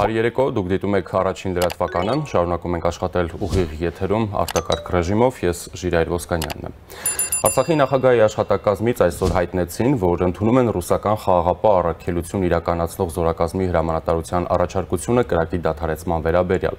Բարի երեկո, դուք դիտում եք առաջին լրատվականը, շարունակում ենք աշխատել ուղիղ եթերում արտակարգ ռեժիմով, ես Ժիրայր Ոսկանյանն եմ։ Արցախի նախագահի աշխատակազմից այսօր հայտնեցին, որ ընդունում են ռուսական խաղաղապահ առաքելություն իրականացնող զորակազմի հրամանատարության առաջարկությունը կրակի դադարեցման վերաբերյալ։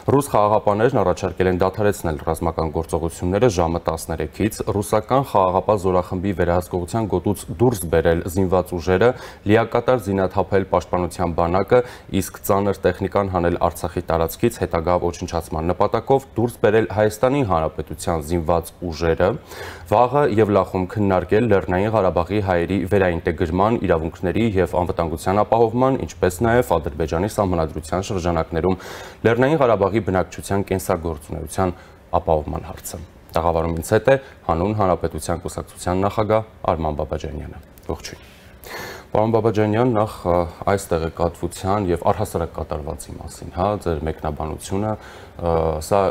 Ռուս խաղաղապահներն առաջարկել են դադարեցնել ռազմական գործողությունները ժամը 13-ից, ռուսական խաղաղապահ զորախմբի վերահսկողության գոտուց դուրս բերել զինված ուժերը, լիակատար զինաթափել պաշտպանության բանակը, իսկ ծանր տեխնիկան հանել Արցախի տարածքից հետագա ոչնչացման նպատակով դուրս բերել Հայաստանի Հանրապետության զինված ուժերը, վաղը եւ լախում քննարկել Լեռնային Ղարաբաղի հայերի վերաինտեգրման, իրավունքների եւ անվտանգության ապահովման, ինչպես նաեւ Ադրբեջանի սահմանադրության շրջանակներում Լեռնային Ղարաբաղի բնակչության կենսագործունեության ապահովման հարցը։ Տաղավարումից հետ է հանուն Հանրապետության կուսակցության նախագահ Արման Բաբաջանյանը։ Ողջույն։ Պարոն Բաբաջանյան, նախ այս տեղեկատվության եւ առհասարակ կատարվածի մասին, ձեր մեկնաբանությունը, սա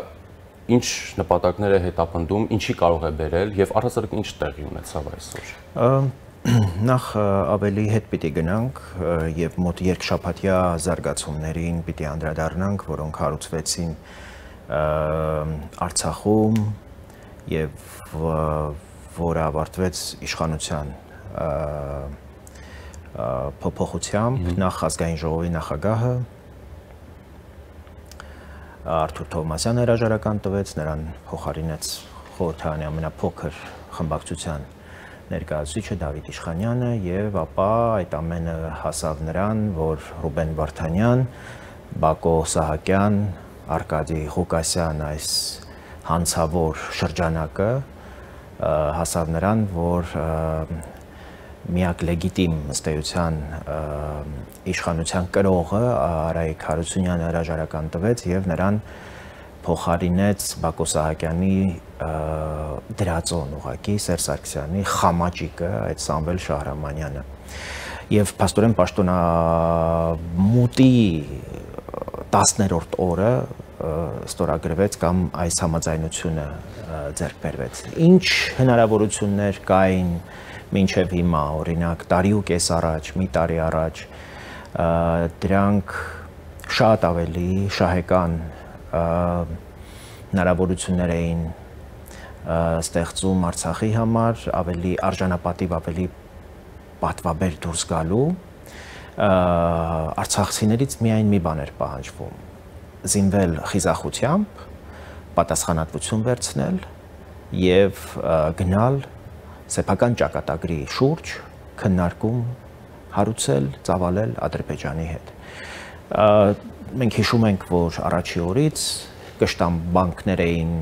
ինչ նպատակներ է հետապնդում, ինչի կարող է բերել եւ առհասարակ ինչ տեղի ունեցավ այսօր։ Նախ ավելի հետ պիտի գնանք եւ մոտ երկշաբաթյա զարգացումներին պիտի անդրադառնանք, որոնք հարուցվեցին Արցախում եւ որը ավարտվեց իշխանության փոփոխությամբ, նախ ազգային ժողովի նախագահը Արթուր Թովմասյանը հրաժարական տվեց, նրան փոխարինեց խորհրդարանի ամենափոքր խմբակցության ներկայացուցիչը Դավիթ Իշխանյանը եւ ապա այդ ամենը հասավ նրան, որ Ռուբեն Վարդանյան, Բակո Սահակյան, Արկադի Ղուկասյան այս հանցավոր շրջանակը հասավ նրան, որ միակ լեգիտիմ ըստ էության իշխանության կրողը Արայիկ Հարությունյանը հրաժարական տվեց եւ նրան փոխարինեց Բակո Սահակյանի դրածոն ուղակի Սերժ Սարգսյանի խամաճիկը այդ Սամվել Շահրամանյանը եւ փաստորեն պաշտոնամուտի 10-րդ օրը ստորագրվեց կամ այս համաձայնությունը ձեռք բերվեց։ Ինչ հնարավորություններ կային մինչև հիմա, օրինակ տարի ու կես առաջ, մի տարի առաջ, դրանք շատ ավելի շահեկան հնարավորություններ էին ստեղծում Արցախի համար, ավելի արժանապատիվ, ավելի պատվաբեր դուրս գալու, արցախցիներից միայն մի բան էր պահանջվում, զինվել խիզախությամբ, պատասխանատվություն վերցնել եւ գնալ սեփական ճակատագրի շուրջ քննարկում հարուցել, ծավալել Ադրբեջանի հետ։ Մենք հիշում ենք, որ առաջի օրից կշտամբանքներ էին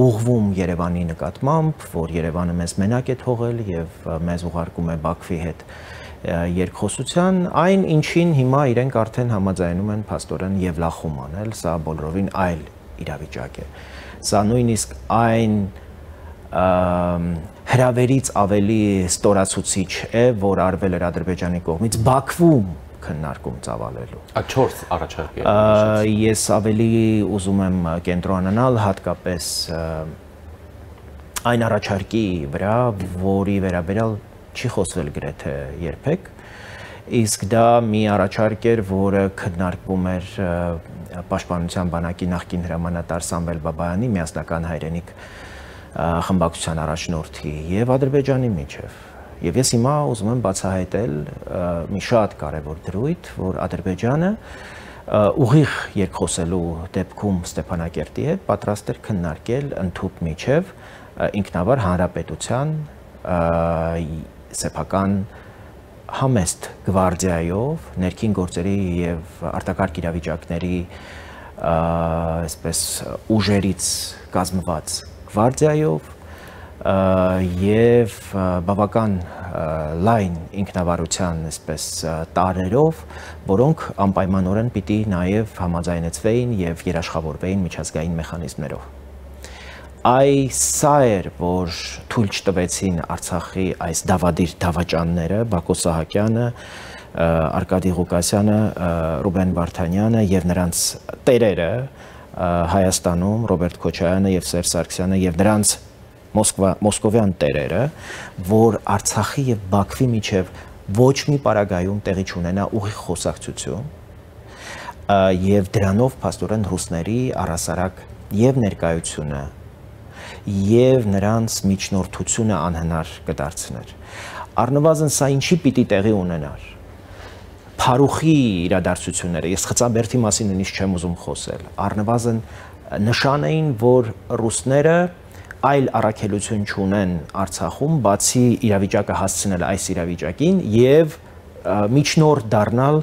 ուղղվում Երևանի նկատմամբ, որ Երևանը մեզ մենակ է թողել եւ մեզ ուղարկում է Բաքվի հետ երկխոսության, այն ինչին հիմա իրենք արդեն համաձայնում են փաստորեն եւ լախում անել, սա բոլորովին այլ իրավիճակ է։ Սա նույնիսկ այն հրավերից ավելի ստորացուցիչ է, որ արվել էր Ադրբեջանի կողմից Բաքվում քննարկում ծավալելու։ 4 առաջարկ է։ Ես ավելի ուզում եմ կենտրոնանալ հատկապես այն առաջարկի վրա, որի վերաբերյալ չի խոսվել գրեթե երբեք, իսկ դա մի առաջարկ էր, որը քննարկվում էր Պաշտպանության բանակի նախկին հրամանատար Սամվել Բաբայանի միասնական հայրենիք խմբակցության առաջնորդի եւ Ադրբեջանի միջև։ Եվ ես հիմա ուզում եմ բացահայտել մի շատ կարևոր դրույթ, որ Ադրբեջանը ուղիղ երկխոսելու դեպքում Ստեփանակերտի հետ պատրաստ էր քննարկել ընդհուպ միջև ինքնավար հանրապետության սեփական համեստ գվարդիայով, ներքին գործերի եւ արտակարգ իրավիճակների այսպես ուժերից կազմված գվարդիայով եւ բավական լայն ինքնավարության այսպես տարերով, որոնք անպայմանորեն պիտի նաեւ համաձայնեցվեին եւ երաշխավորվեին միջազգային մեխանիզմներով։ Սա էր, որ թույլ չտվեցին Արցախի այս դավադիր դավաճանները, Բակո Սահակյանը, Արկադի Ղուկասյանը, Ռուբեն Վարդանյանը եւ նրանց տերերը Հայաստանում, Ռոբերտ Քոչարյանը եւ Սերժ Սարգսյանը եւ նրանց մոսկովյան տերերը, որ Արցախի եւ Բաքվի միջև ոչ մի պարագայում տեղի չունենա ուղիղ խոսակցություն եւ դրանով փաստորեն ռուսների առասարակ եւ ներկայությունը եւ նրանց միջնորդությունը անհնար կդարձներ։ Առնվազն սա ինչի պիտի տեղի ունենար։ Փարուխի իրադարձությունները, ես Խծաբերդի մասին նույնիսկ չեմ ուզում խոսել, առնվազն նշան էին, որ ռուսները այլ առաքելություն չունեն Արցախում, բացի իրավիճակը հասցնել այս իրավիճակին եւ միջնորդ դառնալ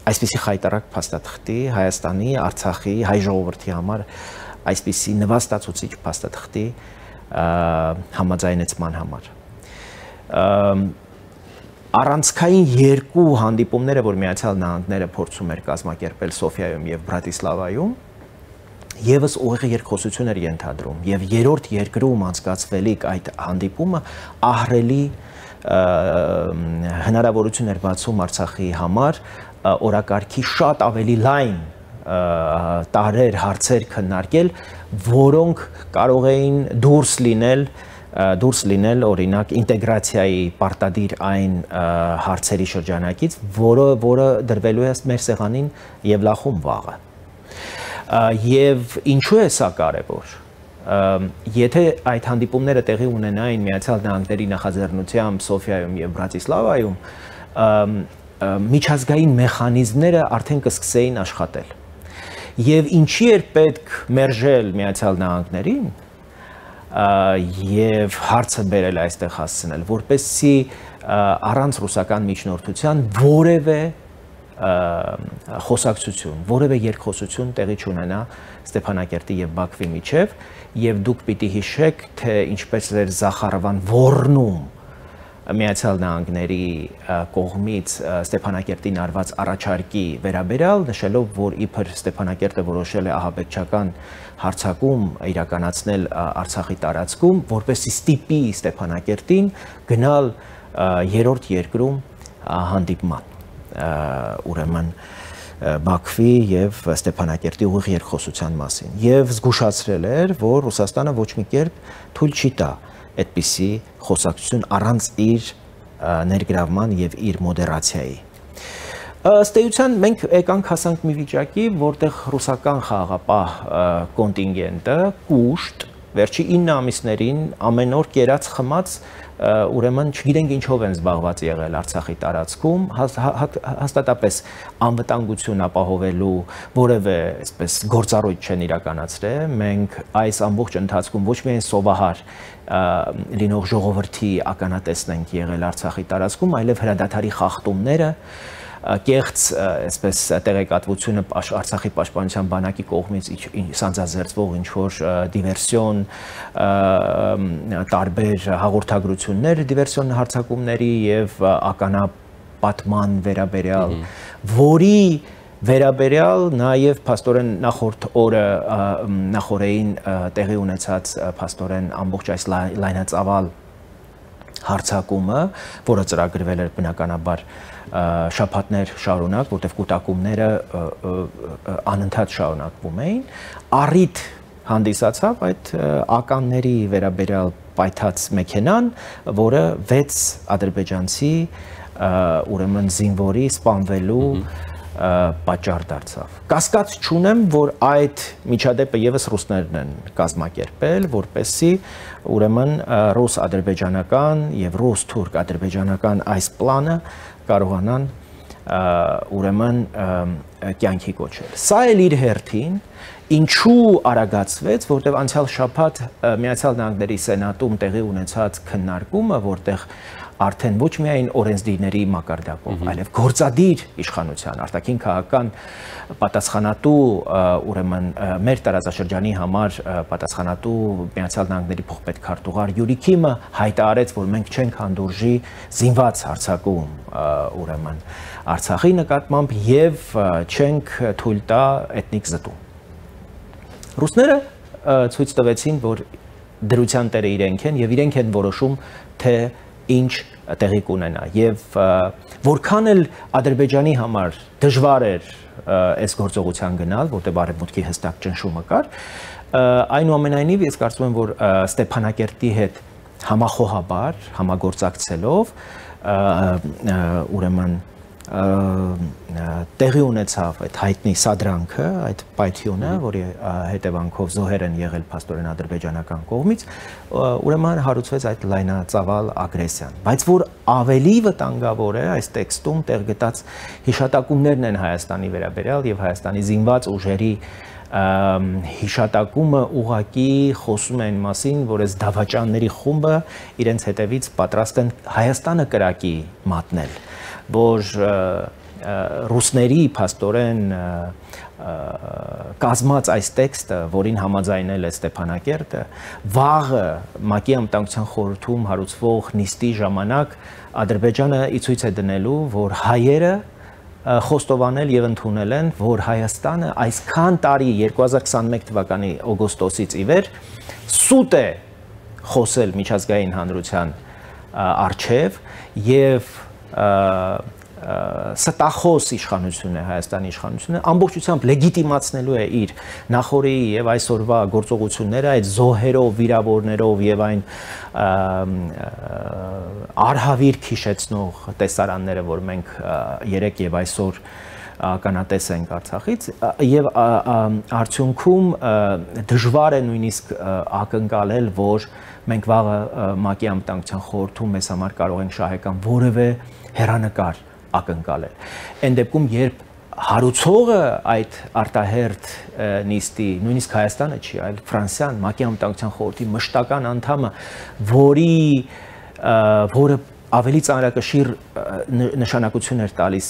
այսպիսի խայտարակ փաստաթղթի Հայաստանի, Արցախի, հայ ժողովրդի համար այսպիսի նվաստացուցիչ փաստաթղթի համաձայնեցման համար։ Առանցքային երկու հանդիպումները, որ Միացյալ Նահանգները փորձում էր կազմակերպել Սոֆիայում եւ Բրատիսլավայում, եւս ուղիղ երկխոսություն էր ենթադրում եւ երրորդ երկրում անցկացվելիք այդ հանդիպումը ահռելի հնարավորություն էր բացում Արցախի համար օրակարգի շատ ավելի լայն տարեր հարցեր քննարկել, որոնք կարող էին դուրս լինել օրինակ ինտեգրացիայի պարտադիր այն հարցերի շրջանակից, որը դրվելու է մեր սեղանին եւ լախում վաղը։ Եվ ինչու է սա կարևոր։ Եթե այդ հանդիպումները տեղի ունենային Միացյալ Նահանգների նախաձեռնությամբ Սոֆիայում եւ Բրատիսլավայում, միջազգային մեխանիզմները արդեն կսկսեին աշխատել։ Եվ ինչի էր պետք մերժել Միացյալ Նահանգներին եւ հարցը բերել այստեղ հասցնել, որպեսզի առանց ռուսական միջնորդության որևէ խոսակցություն, որևէ երկխոսություն տեղի չունենա Ստեփանակերտի եւ Բաքվի միջեւ, եւ դուք պիտի հիշեք, թե ինչպես էր Զախարովան ոռնում Միացյալ Նահանգների կողմից Ստեփանակերտին արված առաջարկի վերաբերյալ, նշելով, որ իբր Ստեփանակերտը որոշել է ահաբեկչական հարձակում իրականացնել Արցախի տարածքում, որպեսզի ստիպի Ստեփանակերտին գնալ երրորդ երկրում հանդիպման, ուրեմն Բաքվի եւ Ստեփանակերտի ուղիղ երկխոսության մասին, եւ զգուշացրել էր, որ Ռուսաստանը ոչ մի կերպ թույլ չի տա այդպիսի խոսակցություն առանց իր ներգրավման եւ իր մոդերացիայի։ Ըստ էության մենք եկանք հասանք մի վիճակի, որտեղ ռուսական խաղաղապահ կոնտինգենտը կուշտ վերջի 9 ամիսներին ամեն օր կերած խմած ուրեմն չգիտենք ինչով են զբաղված եղել Արցախի տարածքում, հաստատապես անվտանգություն ապահովելու որևէ այսպես գործառույթ չեն իրականացրել։ Մենք այս ամբողջ ընթացքում ոչ միայն սովահար լինող ժողովրդի ականատեսն ենք եղել Արցախի տարածքում, այլև հրադադարի խախտումները, կեղծ այսպես տեղեկատվությունը Արցախի պաշտպանության բանակի կողմից սանձազերծվող ինչ-որ դիվերսիոն տարբեր հաղորդագրություններ դիվերսիոն հարձակումների եւ ականապատման վերաբերյալ, որի վերաբերյալ նաեւ փաստորեն նախորդ օրը նախորդային տեղի ունեցած փաստորեն ամբողջ այս լայնածավալ հարձակումը, որը ծրագրվել էր բնականաբար շաբաթներ շարունակ, որտեղ կուտակումները անընդհատ շարունակվում էին, առիթ հանդիսացավ այդ ականների վերաբերյալ պայթած մեքենան, որը 6 ադրբեջանցի ուրեմն զինվորի սպանվելու պատճառ դարձավ։ Կասկած չունեմ, որ այդ միջադեպը եւս ռուսներն են կազմակերպել, որպեսզի ուրեմն ռուս-ադրբեջանական եւ ռուս-թուրք-ադրբեջանական այս պլանը կարողանան ուրեմն կյանքի կոչել։ Սա էլ իր հերթին ինչու արագացվեց, որտեղ անցյալ շաբաթ Միացյալ Նահանգների Սենատում տեղի ունեցած քննարկումը, որտեղ արդեն ոչ միայն օրենսդիրների մակարդակով, այլև գործադիր իշխանության, արտաքին քաղաքական պատասխանատու, ուրեմն մեր տարածաշրջանի համար պատասխանատու Միացյալ Նահանգների փոխպետքարտուղար Յուրի Քիմը հայտարարեց, որ մենք չենք հանդուրժի զինված հարձակում, ուրեմն Արցախի նկատմամբ եւ չենք թույլ տա էթնիկ զտում։ Ռուսները ցույց տվեցին, որ դրության տերը իրենք են եւ իրենք են որոշում, թե ինչ տեղի կունենա եւ որքան էլ Ադրբեջանի համար դժվար էր այս գործողության գնալ, որտեղ բարեբուտքի հստակ ճնշումը կար, այնուամենայնիվ ես կարծում եմ, որ Ստեփանակերտի հետ համախոհաբար, համագործակցելով ուրեմն տեղի ունեցավ այդ հայտնի սադրանքը, այդ պայթյունը, որի հետևանքով զոհեր են եղել փաստորեն ադրբեջանական կողմից, ուրեմն հարուցվեց այդ լայնածավալ ագրեսիան։ Բայց որ ավելի վտանգավոր է այս տեքստում տեղ գտած հիշատակումներն են Հայաստանի վերաբերյալ եւ Հայաստանի զինված ուժերի հիշատակումը ուղակի խոսում են մասին, որ այս դավաճանների խումբը իրենց հետևից պատրաստ են Հայաստանը կրակի մատնել, որ ռուսների փաստորեն կազմած այս տեքստը, որին համաձայնել է Ստեփանակերտը, վաղը ՄԱԿ-ի անվտանգության խորհրդում հարուցվող նիստի ժամանակ Ադրբեջանը ի ցույց է դնելու, որ հայերը խոստովանել եւ ընդունել են, որ Հայաստանը այսքան տարի 2021 թվականի օգոստոսից ի վեր սուտ է խոսել միջազգային հանրության առջև եւ ստախոս իշխանություն է Հայաստանի իշխանությունը ամբողջությամբ լեգիտիմացնելու է իր նախորդի եւ այսօրվա գործողությունները այդ զոհերով, վիրավորներով եւ այն արհավիրք հիշեցնող տեսարանները, որ մենք երեք եւ այսօր ականատես ենք Արցախից եւ արդյունքում դժվար է նույնիսկ ակնկալել, որ մենք վաղը ՄԱԿ-ի անվտանգության խորհրդում մեզ համար կարող ենք շահեկան որևէ հեռանկար ակնկալել։ Այն դեպքում, երբ հարուցողը այդ արտահերթ նիստի, նույնիսկ Հայաստանը չի, այլ Ֆրանսիան, ՄԱԿ-ի անվտանգության խորհրդի մշտական անդամը, որը ավելի ծանրակշիռ նշանակություն էր տալիս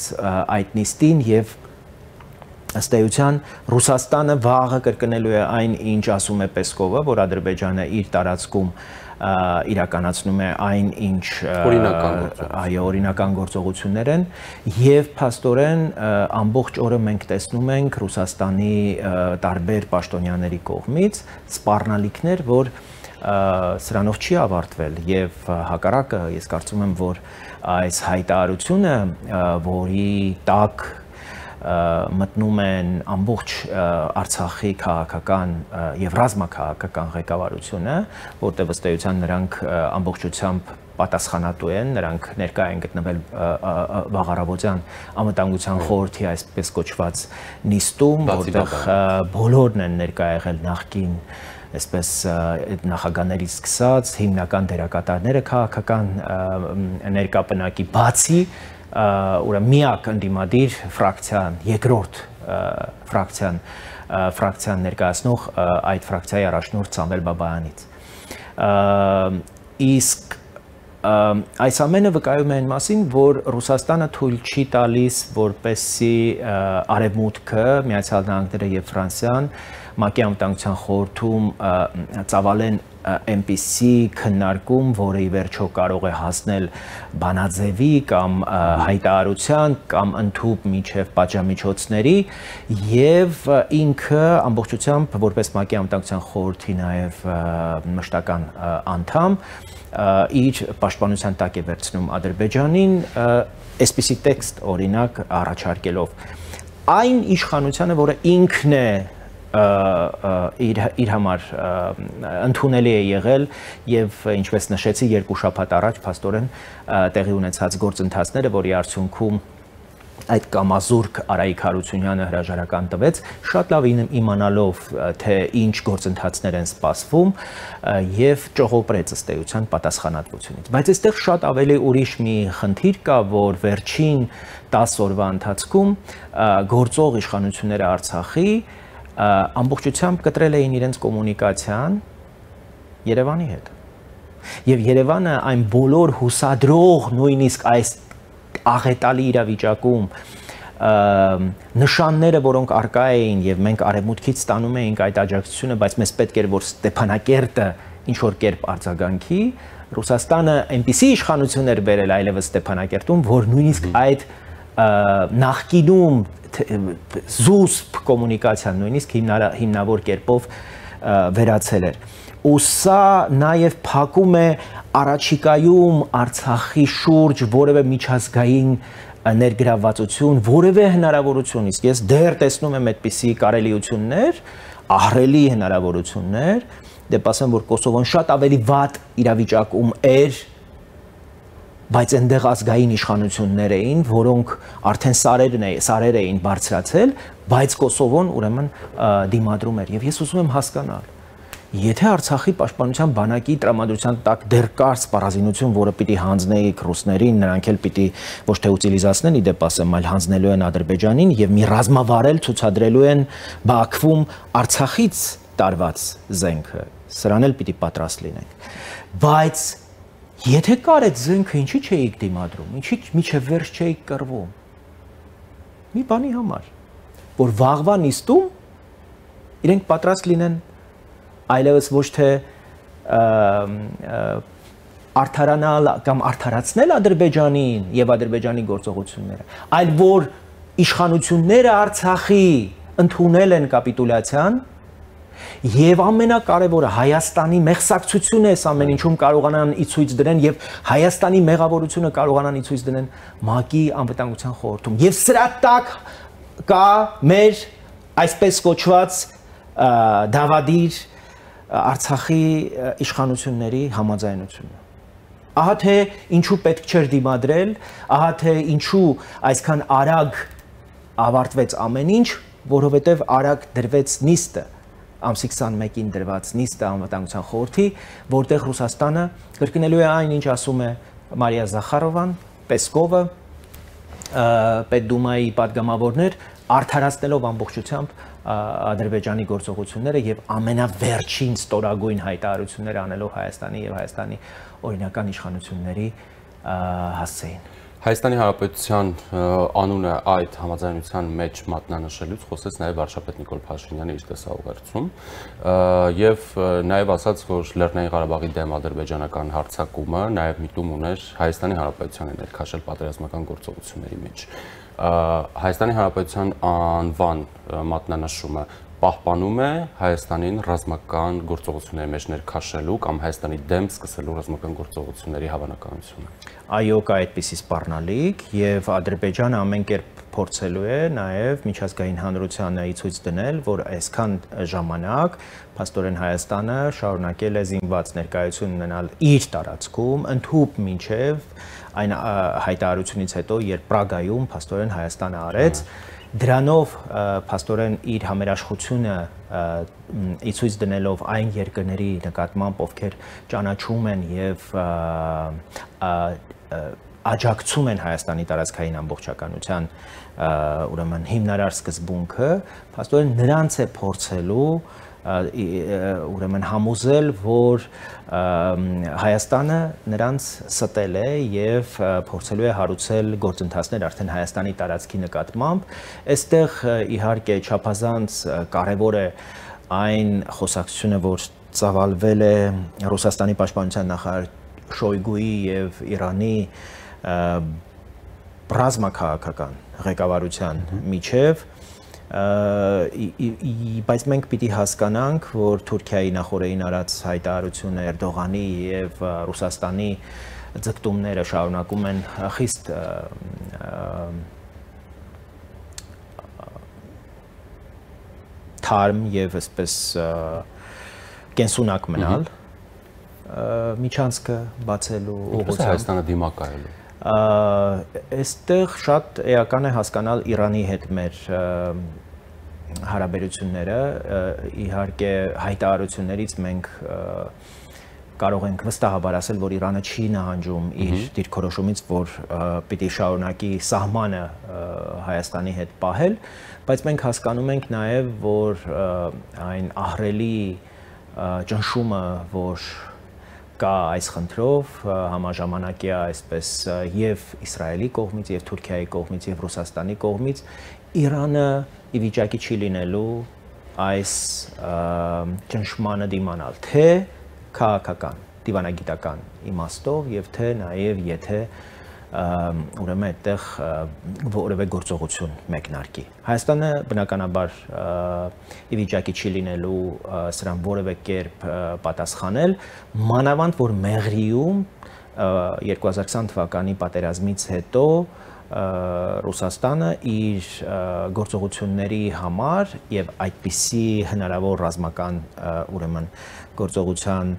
այդ նիստին եւ ըստ էության Ռուսաստանը վաղը կրկնելու է այն, ինչ ասում է Պեսկովը, որ Ադրբեջանը իր տարածքում իրականացնում է այն, ինչ օրինական գործողություններ են եւ փաստորեն ամբողջ օրը մենք տեսնում ենք Ռուսաստանի տարբեր պաշտոնյաների կողմից սպառնալիքներ, որ սրանով չի ավարտվել եւ հակառակը ես կարծում եմ, որ այս հայտարարությունը, որի տակ մտնում են ամբողջ Արցախի քաղաքական եւ ռազմաքաղաքական ղեկավարությունը, որտեղ ըստ էության նրանք ամբողջությամբ պատասխանատու են, նրանք ներկա են գտնվել վաղառավոտյան անվտանգության խորհրդի այսպես կոչված նիստում, որտեղ բոլորն են ներկա եղել նախկին այսպես նախագահներից սկսած հիմնական դերակատարները քաղաքական ներկապնակի բացի միակ ընդդիմադիր ֆրակցիան, երկրորդ ֆրակցիան ներկայացնող այդ ֆրակցիայի առաջնորդ Սամվել Բաբայանից։ Իսկ այս ամենը վկայում է այն մասին, որ Ռուսաստանը թույլ չի տալիս, որպեսզի Արևմուտքը, Միացյալ Նահանգները եւ Ֆրանսիան ՄԱԿ-ի անվտանգության խորհրդում ծավալեն այնպիսի քննարկում, որը ի վերջո կարող է հասնել բանաձևի կամ հայտարարության կամ ընդհուպ միջև պատժամիջոցների եւ ինքը ամբողջությամբ որպես ՄԱԿ-ի անվտանգության խորհրդի նաեւ մշտական անդամ իր պաշտպանության տակ է վերցնում Ադրբեջանին այսպիսի տեքստ օրինակ առաջարկելով այն իշխանությանը, որը ինքն է իր համար ընդունելի է եղել եւ ինչպես նշեցի երկու շաբաթ առաջ փաստորեն տեղի ունեցած գործընթացները, որի արդյունքում այդ կամազուրկ Արայիկ Հարությունյանը հրաժարական տվեց, շատ լավ իմանալով թե ինչ գործընթացներ են սպասվում եւ ճողոպրեց ըստ էության պատասխանատվությունից։ Բայց այստեղ շատ ավելի ուրիշ մի խնդիր կա, որ վերջին 10 օրվա ընթացքում գործող իշխանությունները Արցախի ամբողջությամբ կտրել էին իրենց կոմունիկացիան Երևանի հետ։ Եվ Երևանը այն բոլոր հուսադրող նույնիսկ այս աղետալի իրավիճակում նշանները, որոնք արկա էին եւ մենք արևմուտքից ստանում էինք այդ աջակցությունը, բայց մեզ պետք էր, որ Ստեփանակերտը ինչ որ կերպ արձագանքի, Ռուսաստանը այնպիսի իշխանություն էր բերել այլևս Ստեփանակերտում, որ նույնիսկ այդ նախկինում զուսպ կոմունիկացիան նույնիսկ հիմնավոր կերպով վերացել էր։ Ու սա նաև փակում է առաջիկայում Արցախի շուրջ որևէ միջազգային ներգրավվածություն, որևէ հնարավորություն, իսկ ես դեռ տեսնում եմ այդպիսի կարելիություններ, ահռելի հնարավորություններ, դեպ ասեմ, որ Կոսովոն շատ ավելի վատ իրավիճակում էր բայց այնտեղ ազգային իշխանություններ էին, որոնք արդեն սարեր էին բարձրացել, բայց Կոսովոն ուրեմն դիմադրում էր։ Եվ ես ուզում եմ հասկանալ, եթե Արցախի պաշտպանության բանակի տրամադրության տակ դեռ կար սպառազինություն, որը պիտի հանձնեիք ռուսներին, նրանք էլ պիտի ոչ թե ուտիլիզացնեն, իդեպ ասեմ, այլ հանձնելու են Ադրբեջանին եւ մի ռազմավարել ցուցադրելու են Բաքվում Արցախից տարված զենքը, սրան էլ պիտի պատրաստ լինենք։ Բայց եթե կար այդ զենքը, ինչի չէիք դիմադրում, ինչի միջև վերջ չէիք կռվում։ Մի բանի համար, որ վաղվա նիստում իրենք պատրաստ լինեն այլևս ոչ թե արդարանալ կամ արդարացնել Ադրբեջանին եւ Ադրբեջանի գործողությունները, այլ որ իշխանությունները Արցախի ընդունել են կապիտուլյացիան եւ ամենակարևորը Հայաստանի մեղսակցությունը այս ամեն ինչում կարողանան ի ցույց դրեն եւ Հայաստանի մեղավորությունը կարողանան ի ցույց դնեն ՄԱԿ-ի անվտանգության խորհրդում եւ սրա տակ կա մեր այսպես կոչված դավադիր Արցախի իշխանությունների համաձայնությունը։ Ահա թե ինչու պետք չէր դիմադրել, ահա թե ինչու այսքան արագ ավարտվեց ամեն ինչ, որովհետև արագ դրվեց նիստը, ամսի 21-ին դրված նիստը անվտանգության խորհրդի, որտեղ Ռուսաստանը կրկնելու է այն, ինչ ասում է Մարիա Զախարովան, Պեսկովը, Պետդումայի падգամավորներ, արդարացնելով ամբողջությամբ Ադրբեջանի գործողությունները եւ ամենավերջին ստորագույն հայտարարությունները անելով Հայաստանի եւ Հայաստանի օրինական իշխանությունների հասցեին։ Հայաստանի Հանրապետության անունը այդ համաձայնության մեջ մատնանշելուց խոսեց նաև վարչապետ Նիկոլ Փաշինյանը իր տեսաուղերձում եւ նաև ասաց, որ Լեռնային Ղարաբաղի դեմ ադրբեջանական հարձակումը նաև միտում ուներ Հայաստանի Հանրապետությանը ներքաշել պատերազմական գործողությունների մեջ։ Հայաստանի Հանրապետության անվան մատնանշումը պահպանում է Հայաստանին ռազմական գործողությունների մեջ ներքաշելու կամ Հայաստանի դեմ սկսելու ռազմական գործողությունների հավանականությունը։ Այո, կա այդպիսի սպառնալիք եւ Ադրբեջանը ամեն կերպ փորձելու է նաեւ միջազգային հանրությանը ի ցույց դնել, որ այսքան ժամանակ փաստորեն Հայաստանը շարունակել է զինված ներկայություն ունենալ իր տարածքում, ընդհուպ մինչեւ այն հայտարարությունից հետո, երբ Պրագայում փաստորեն Հայաստանը արեց դրանով փաստորեն իր համերաշխությունը ի ցույց դնելով այն երկրների նկատմամբ, ովքեր ճանաչում են եւ աջակցում են Հայաստանի տարածքային ամբողջականության ուրեմն հիմնարար սկզբունքը, փաստորեն նրանց է փորձելու ուրեմն համոզել, որ Հայաստանը նրանց ստել է եւ փորձելու է հարուցել գործընթացներ արդեն Հայաստանի տարածքի նկատմամբ։ Այստեղ իհարկե չափազանց կարեւոր է այն խոսակցությունը, որ ծավալվել է Ռուսաստանի պաշտպանության նախարար Շոյգուի եւ Իրանի ռազմաքաղաքական ղեկավարության միջև բայց մենք պիտի հասկանանք, որ Թուրքիայի նախորդին արած հայտարարությունը Էրդողանի եւ Ռուսաստանի ձգտումները շարունակում են խիստ թարմ եւ այսպես կենսունակ մնալ միջանցքը բացելու ուղղությամբ Հայաստանը դիմակայելու Այստեղ շատ էական է հասկանալ Իրանի հետ մեր հարաբերությունները, իհարկե հայտարարություններից մենք կարող ենք վստահաբար ասել, որ Իրանը չի նահանջում իր դիրքորոշումից, որ պիտի շարունակի սահմանը Հայաստանի հետ պահել, բայց մենք հասկանում ենք նաև, որ այն ահռելի ճնշումը, որ կա այս խնդրով համաժամանակյա այսպես եւ Իսրայելի կողմից եւ Թուրքիայի կողմից եւ Ռուսաստանի կողմից Իրանը ի վիճակի չի լինելու այս ճնշմանը դիմանալ թե քաղաքական, դիվանագիտական իմաստով եւ թե նաեւ եթե ուրեմն այդտեղ որևէ գործողություն մեկնարկի։ Հայաստանը բնականաբար ի վիճակի չի լինելու սրան որևէ կերպ պատասխանել, մանավանդ որ Մեղրիում 2020 թվականի պատերազմից հետո Ռուսաստանը իր գործողությունների համար եւ այդպիսի հնարավոր ռազմական ուրեմն գործողության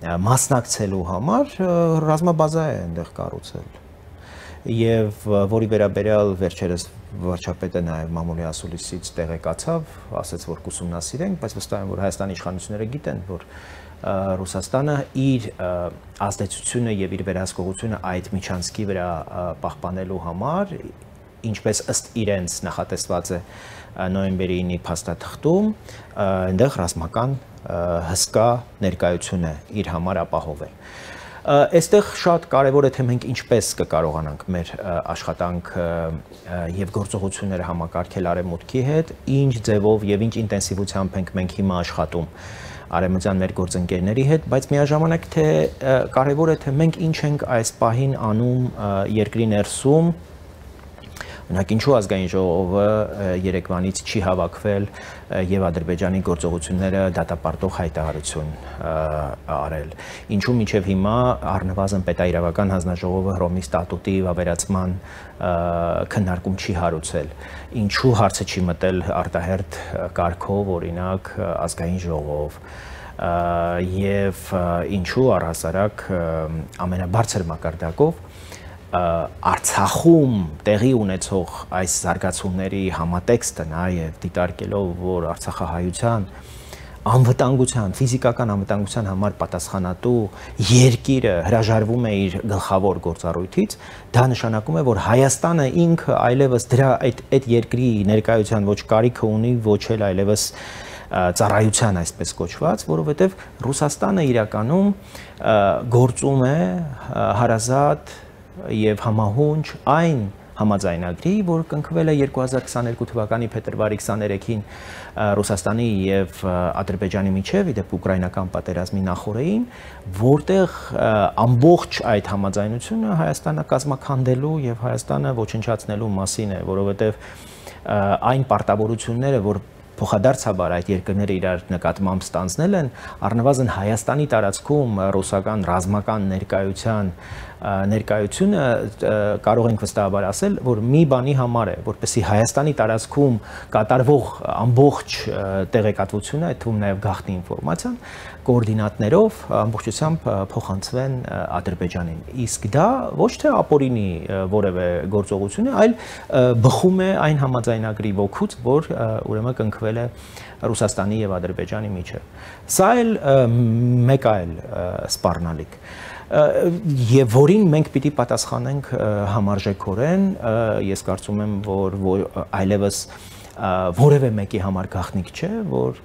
մասնակցելու համար ռազմաբազա է այնտեղ կառուցել։ Եվ որի վերաբերյալ վերջերս վարչապետը նաև մամուլի ասուլիսից տեղեկացավ, ասաց, որ կուսումնասիրենք, բայց վստահ եմ, որ Հայաստանի իշխանությունները գիտեն, որ Ռուսաստանը իր ազդեցությունը եւ իր վերահսկողությունը այդ միջանցքի վրա պահպանելու համար, ինչպես ըստ իրենց նախատեսված է նոյեմբերի 9-ի փաստաթղթում, այնտեղ ռազմական հսկա ներկայություն է իր համար ապահովել։ Այստեղ շատ կարևոր է թե մենք ինչպես կկարողանանք մեր աշխատանքը եւ գործողությունները համակարգել արևմուտքի հետ, ինչ ձևով եւ ինչ ինտենսիվությամբ ենք մենք հիմա աշխատում արևմտյան մեր գործընկերների հետ, բայց միաժամանակ թե կարևոր է թե մենք ինչ ենք այս պահին անում երկրի ներսում, օրինակ ինչու ազգային ժողովը երեկվանից չի հավաքվել եւ Ադրբեջանի գործողությունները դատապարտող հայտարարություն արել, ինչու մինչեւ հիմա առնվազն պետաիրավական հանձնաժողովը Հռոմի ստատուտի վավերացման քննարկում չի հարուցել, ինչու հարցը չի մտել արտահերթ կարգով, օրինակ ազգային ժողով եւ ինչու առհասարակ ամենաբարձր մակարդակով Արցախում տեղի ունեցող այս զարգացումների համատեքստը նաև դիտարկելով, որ արցախահայության անվտանգության, ֆիզիկական անվտանգության համար պատասխանատու երկիրը հրաժարվում է իր գլխավոր գործառույթից, դա նշանակում է, որ Հայաստանը ինքը այլևս դրա այդ երկրի ներկայության ոչ կարիքը ունի, ոչ էլ այլևս ծառայության այսպես կոչված, որովհետև Ռուսաստանը իրականում գործում է հարազատ եւ համահունչ այն համաձայնագրի, որ կնքվել է 2022 թվականի փետրվարի 23-ին Ռուսաստանի եւ Ադրբեջանի միջև, իդեպ ուկրաինական պատերազմի նախօրեին, որտեղ ամբողջ այդ համաձայնությունը Հայաստանը կազմաքանդելու եւ Հայաստանը ոչնչացնելու մասին է, որովհետեւ այն պարտավորությունները, որ փոխադարձաբար այդ երկրները իրար նկատմամբ ստանձնել են, առնվազն Հայաստանի տարածքում ռուսական ռազմական ներկայությունը կարող ենք վստահաբար ասել, որ մի բանի համար է, որպեսզի Հայաստանի տարածքում կատարվող ամբողջ տեղեկատվությունը, այդ թվում նաև գաղտնի ինֆորմացիան, կոորդինատներով ամբողջությամբ փոխանցվեն Ադրբեջանին։ Իսկ դա ոչ թե ապօրինի որևէ գործողություն է, այլ բխում է այն համաձայնագրի ոգուց, որ ուրեմն կնքվել է Ռուսաստանի եւ Ադրբեջանի միջև։ Սա էլ մեկ այլ սպառնալիք եւ որին մենք պիտի պատասխանենք համարժեքորեն, ես կարծում եմ, որ այլևս որևէ մեկի համար գաղտնիք չէ, որ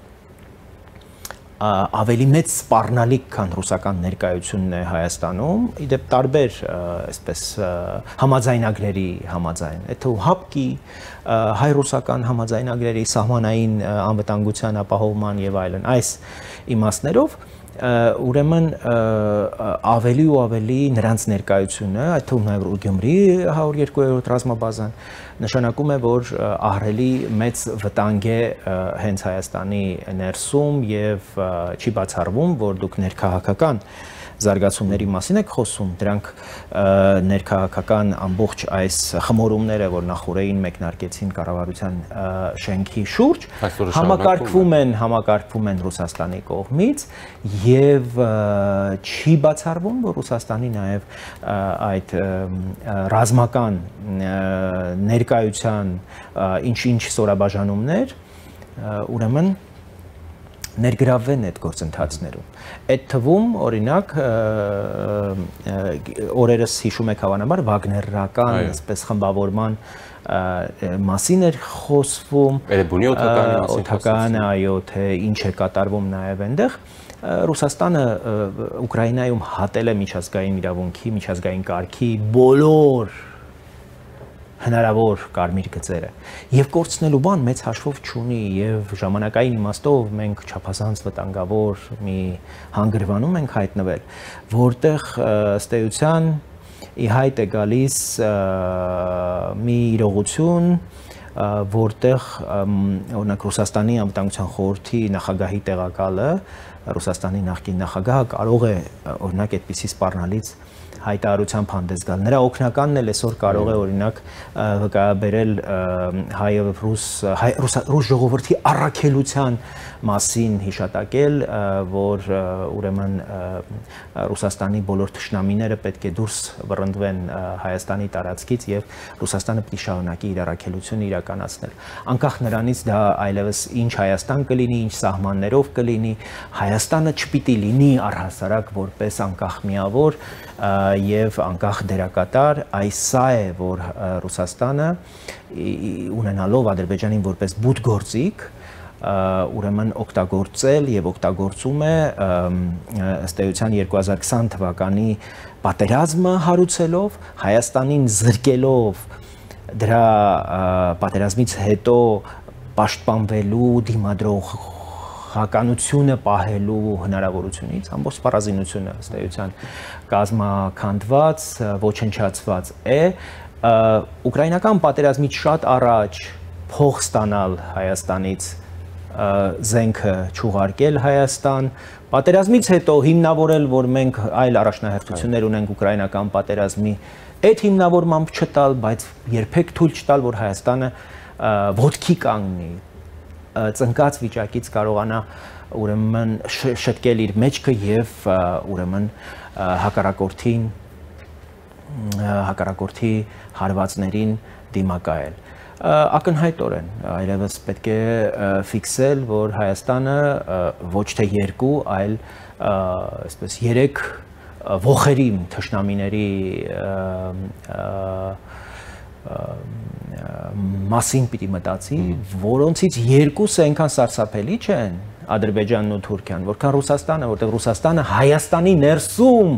ավելի մեծ սպառնալիք, քան ռուսական ներկայությունն է Հայաստանում, իդեպ տարբեր այսպես համաձայնագրերի համաձայն, այդ ՀԱՊԿ-ի, հայ-ռուսական համաձայնագրերի սահմանային անվտանգության ապահովման եւ այլն, այս իմաստներով ուրեմն ավելի ու ավելի նրանց ներկայությունը, այդ թվում նաև Գյումրի 102-րդ ռազմաբազան նշանակում է, որ ահռելի մեծ վտանգ է հենց Հայաստանի ներսում եւ չի բացառվում, որ դուք ներքաղաքական զարգացումների մասին եք խոսում, դրանք ներքաղաքական ամբողջ այս խմորումները, որ նախորդին մեկնարկեցին կառավարության շենքի շուրջ, համակարգվում են Ռուսաստանի կողմից եւ չի բացառվում, որ Ռուսաստանի նաեւ այդ ռազմական ներկայության ինչ-ինչ սորաբաժանումներ ուրեմն ներգրավվեն այդ գործընթացներում։ Այդ թվում, օրինակ, օրերս հիշում եք հավանաբար վագներական, այսպես խմբավորման մասին էր խոսվում, Էրեբունի օդականը, այո, թե ինչ է կատարվում նաև այնտեղ։ Ռուսաստանը Ուկրաինայում հատել է միջազգային իրավունքի, միջազգային կարգի բոլոր հնարավոր կարմիր գծերը եւ կորցնելու բան մեծ հաշվով չունի եւ ժամանակային իմաստով մենք չափազանց վտանգավոր մի հանգրվանում ենք հայտնվել, որտեղ ըստ էության ի հայտ է գալիս մի իրողություն, որտեղ օրինակ Ռուսաստանի անվտանգության խորհրդի նախագահի տեղակալը, Ռուսաստանի նախկին նախագահը կարող է օրինակ այդպիսի սպառնալից հայտարարությամբ հանդես գալ։ Նրա օգնականն էլ այսօր կարող է օրինակ վկայաբերել ռուս ժողովրդի առաքելության մասին հիշատակել, որ ուրեմն Ռուսաստանի բոլոր թշնամիները պետք է դուրս վռնդվեն Հայաստանի տարածքից եւ Ռուսաստանը պետք է շարունակի իր առաքելությունը իրականացնել։ Անկախ նրանից դա այլևս ինչ Հայաստան կլինի, ինչ սահմաններով կլինի, Հայաստանը չպիտի լինի առհասարակ որպես անկախ միավոր եւ անկախ դերակատար, այս սա է, որ Ռուսաստանը ունենալով Ադրբեջանին որպես բութ գործիք ուրեմն օգտագործել եւ օգտագործում է ըստ էության 2020 թվականի պատերազմը հարուցելով, Հայաստանին զրկելով դրա պատերազմից հետո պաշտպանվելու դիմադրողականությունը պահելու հնարավորությունից, ամբողջ սպառազինությունը ըստ էության կազմաքանդված, ոչնչացված է, ուկրաինական պատերազմից շատ առաջ փող ստանալ Հայաստանից զենքը չուղարկել Հայաստան, պատերազմից հետո հիմնավորել, որ մենք այլ առաջնահերթություններ ունենք ուկրաինական պատերազմի, այդ հիմնավորմամբ չտալ, բայց երբեք թույլ չտալ, որ Հայաստանը ոտքի կանգնի, ծնկած վիճակից կարողանա ուրեմն շտկել իր մեջքը եւ ուրեմն հակառակորդի հարվածներին դիմակայել։ Ակնհայտորեն այլևս պետք է ֆիքսել, որ Հայաստանը ոչ թե 2, այլ այսպես 3 ողերի թշնամիների մասին պիտի մտածի, որոնցից 2-ը այնքան սարսափելի չեն, Ադրբեջանն ու Թուրքիան, որքան Ռուսաստանը, որտեղ Ռուսաստանը Հայաստանի ներսում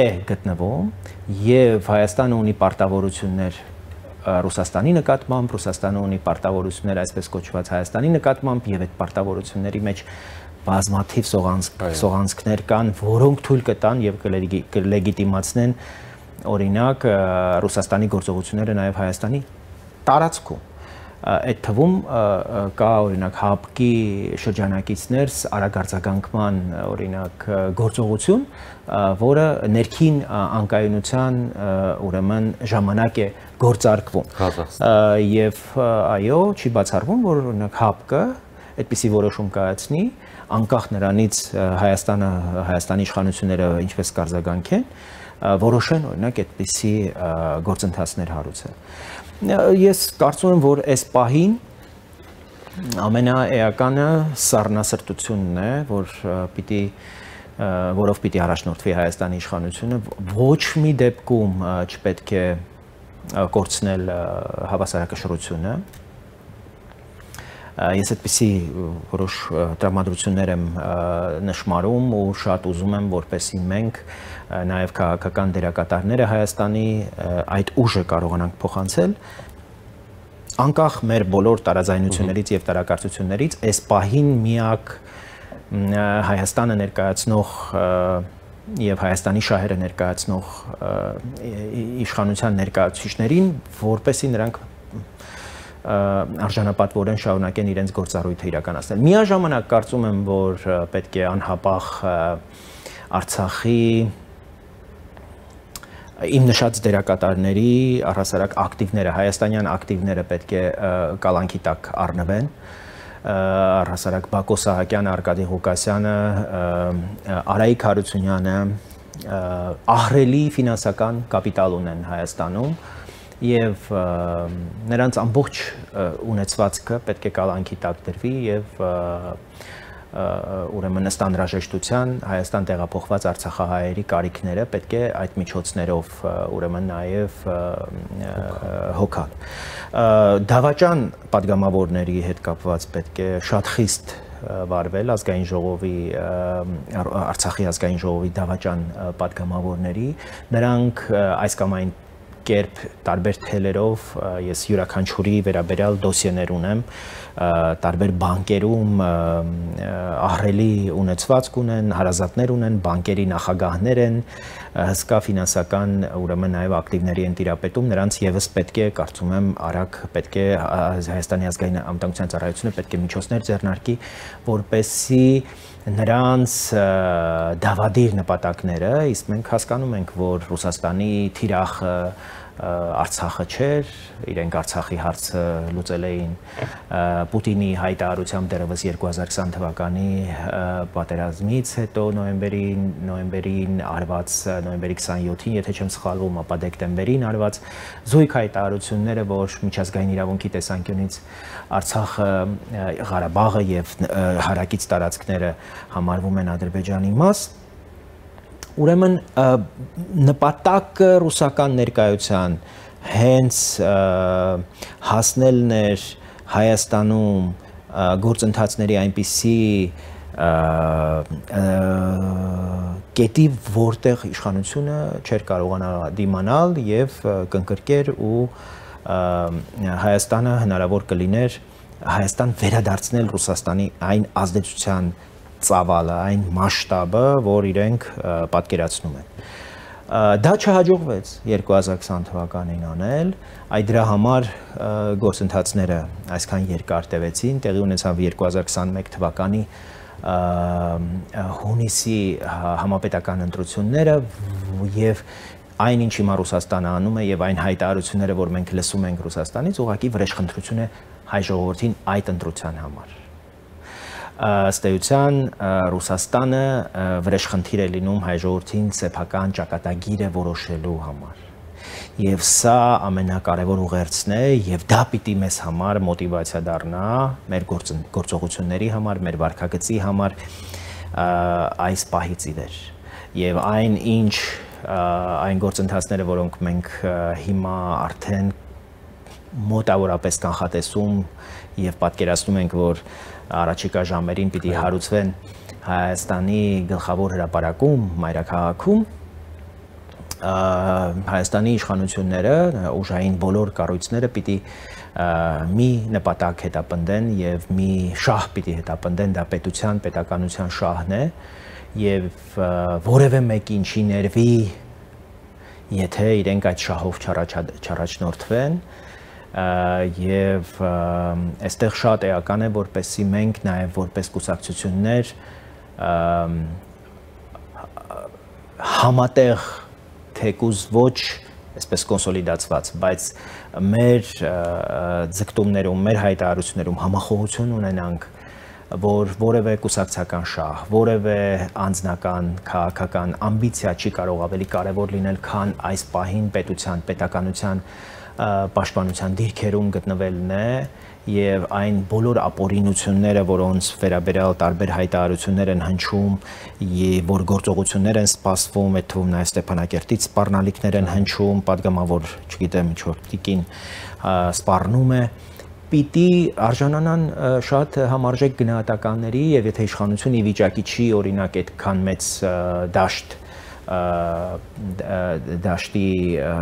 է գտնվում եւ Հայաստանը ունի պարտավորություններ Ռուսաստանի նկատմամբ, Ռուսաստանը ունի պարտավորություններ այսպես կոչված Հայաստանի նկատմամբ եւ այդ պարտավորությունների մեջ բազմաթիվ սողանցքներ կան, որոնք թույլ կտան եւ կլեգիտիմացնեն օրինակ Ռուսաստանի գործողությունները նաեւ Հայաստանի տարածքում։ Այդ թվում կա օրինակ ՀԱՊԿ-ի շրջանակիցներ արագարձագանքման օրինակ գործողություն, որը ներքին անկայունության ուրեմն ժամանակ է գործարկվում։ Եվ այո, չի բացառվում, որ օրինակ ՀԱՊԿ-ը այդպիսի որոշում կայացնի, անկախ նրանից Հայաստանի իշխանությունները ինչպես կարձագանքեն, որոշեն օրինակ այդպիսի գործընթացներ հարուցել։ Ես կարծում եմ, որ այս պահին ամենաէականը սառնասրտությունն է, որով պիտի առաջնորդվի Հայաստանի իշխանությունը, ոչ մի դեպքում չպետք է կորցնել հավասարակշռությունը։ Ես այդպիսի որոշ տրամադրություններ եմ նշմարում ու շատ ուզում եմ, որպեսզի մենք նաև քաղաքական դերակատարները Հայաստանի այդ ուժը կարողանանք փոխանցել անկախ մեր բոլոր տարաձայնություններից եւ տարակարծություններից, այս պահին միակ Հայաստանը ներկայացնող եւ Հայաստանի շահերը ներկայացնող իշխանության ներկայացուցիչներին, որպեսզի նրանք արժանապատվորեն շարունակեն իրենց գործառույթը իրականացնել։ Միաժամանակ կարծում եմ, որ պետք է անհապաղ Արցախի իմ նշած դերակատարների առհասարակ ակտիվները, հայաստանյան ակտիվները պետք է կալանքի տակ առնվեն, առհասարակ Բակո Սահակյանը, Արկադի Ղուկասյանը, Արայիկ Հարությունյանը ահռելի ֆինանսական կապիտալ ունեն Հայաստանում եւ նրանց ամբողջ ունեցվածքը պետք է կալանքի տակ դրվի եւ ուրեմն ըստ անհրաժեշտության Հայաստան տեղափոխված արցախահայերի կարիքները պետք է այդ միջոցներով ուրեմն նաև հոգալ։ Դավաճան падգամավորների հետ կապված պետք է շատ խիստ վարվել ազգային ժողովի Արցախի ազգային ժողովի դավաճան падգամավորների, նրանք այս կամ այն կերպ տարբեր թելերով ես յուրաքանչյուրի վերաբերյալ դոսիեներ ունեմ, տարբեր բանկերում ահռելի ունեցվածք ունեն, հարազատներ ունեն, բանկերի նախագահներ են, հսկա ֆինանսական ուրեմն նաև ակտիվների են տիրապետում, նրանց եւս պետք է, կարծում եմ, արագ պետք է Հայաստանի ազգային անվտանգության ծառայությունը պետք է միջոցներ ձեռնարկի, որպեսզի նրանց դավադիր նպատակները, իսկ մենք հասկանում ենք, որ Ռուսաստանի թիրախը Արցախը չէր, իրենք Արցախի հարցը լուծել էին Պուտինի հայտարարությամբ դեռևս 2020 թվականի պատերազմից հետո նոյեմբերին արված, նոյեմբերի 27-ին, եթե չեմ սխալվում, ապա դեկտեմբերին արված զույգ հայտարարությունները, որ միջազգային իրավունքի տեսանկյունից Արցախը, Ղարաբաղը եւ հարակից տարածքները համարվում են Ադրբեջանի մաս, ուրեմն նպատակը ռուսական ներկայության հենց հասնելն էր Հայաստանում գործընթացների այնպիսի կետի, որտեղ իշխանությունը չէր կարողանա դիմանալ եւ կընկրկեր ու Հայաստանը հնարավոր կլիներ Հայաստան վերադարձնել Ռուսաստանի այն ազդեցության ծավալը, այն մասշտաբը, որ իրենք պատկերացնում են։ Դա չհաջողվեց 2020 թվականին անել, այդ դրա համար գործընթացները այսքան երկար տևեցին, տեղի ունեցավ 2021 թվականի հունիսի համապետական ընտրությունները եւ այն ինչ հիմա Ռուսաստանը անում է եւ այն հայտարարությունները, որ մենք լսում ենք Ռուսաստանից, ուղղակի վրեժխնդրություն է հայ ժողովրդին այդ ընտրության համար։ Ըստ էության Ռուսաստանը վրեժխնդիր է լինում հայ ժողովրդին սեփական ճակատագիրը որոշելու համար։ Եվ սա ամենակարևոր ուղերձն է եւ դա պիտի մեզ համար մոտիվացիա դառնա մեր գործողությունների համար, մեր վարքագծի համար այս պահից ի վեր։ Եվ այն գործընթացները, որոնք մենք հիմա արդեն մոտավորապես կանխատեսում եւ պատկերացնում ենք, որ առաջիկա ժամերին պիտի հարուցվեն Հայաստանի գլխավոր հրապարակում, մայրաքաղաքում, Հայաստանի իշխանությունները, ուժային բոլոր կառույցները պիտի մի նպատակ հետապնդեն եւ մի շահ պիտի հետապնդեն, դա պետականության շահն է եւ որևէ մեկին չի ներվի, եթե իրենք այդ շահով չառաջնորդվեն եւ այստեղ շատ էական է, որպեսզի մենք նաեւ որպես կուսակցություններ համատեղ թեկուզ ոչ այսպես կոնսոլիդացված, բայց մեր ձգտումներում, մեր հայտարարություններում համախոհություն ունենանք, որ որևէ կուսակցական շահ, որևէ անձնական քաղաքական ամբիցիա չի կարող ավելի կարևոր լինել, քան այս պահին պետականության պաշտպանության դիրքերում գտնվելն է եւ այն բոլոր ապօրինությունները, որոնց վերաբերյալ տարբեր հայտարարություններ են հնչում, եւ որ գործողություններ են սպասվում, այդ թվում նաեւ Ստեփանակերտից սպառնալիքներ են հնչում, падգամավոր, չգիտեմ, ինչ որ տիկին սպառնում է, պիտի արժանանան շատ համարժեք գնահատականների եւ եթե իշխանությունը ի վիճակի չի օրինակ այդքան մեծ դաշտի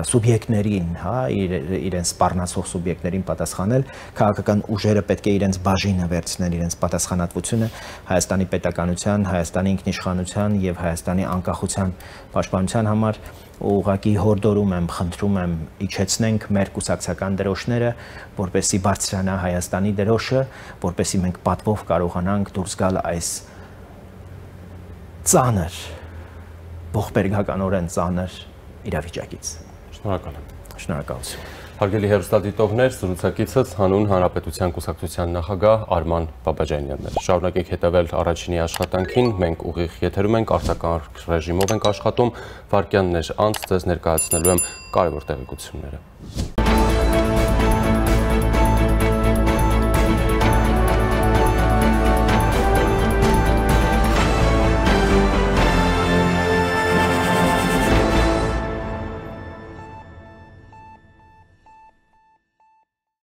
սուբյեկտներին, հա, իրենց սպառնացող սուբյեկտներին պատասխանել, քաղաքական ուժերը պետք է իրենց բաժինը վերցնեն, իրենց պատասխանատվությունը Հայաստանի պետականության, Հայաստանի ինքնիշխանության եւ Հայաստանի անկախության պաշտպանության համար ուղղակի հորդորում եմ, խնդրում եմ, իջեցնենք մեր կուսակցական դրոշները, որպեսզի բարձրանա Հայաստանի դրոշը, որպեսզի մենք պատվով կարողանանք դուրս գալ այս ծանր ողբերգականորեն ծանր իրավիճակից։ Շնորհակալ եմ։ Շնորհակալություն։ Հարգելի հեռուստադիտողներ, զրուցակիցս Հանուն Հանրապետության կուսակցության նախագահ Արման Բաբաջանյանն էր։ Շարունակենք հետևել առաջինի աշխատանքին, մենք ուղիղ եթերում ենք, արտակարգ ռեժիմով ենք աշխատում, վայրկյաններ անց ձեզ ներկայացնելու եմ կարևոր տեղեկությունները։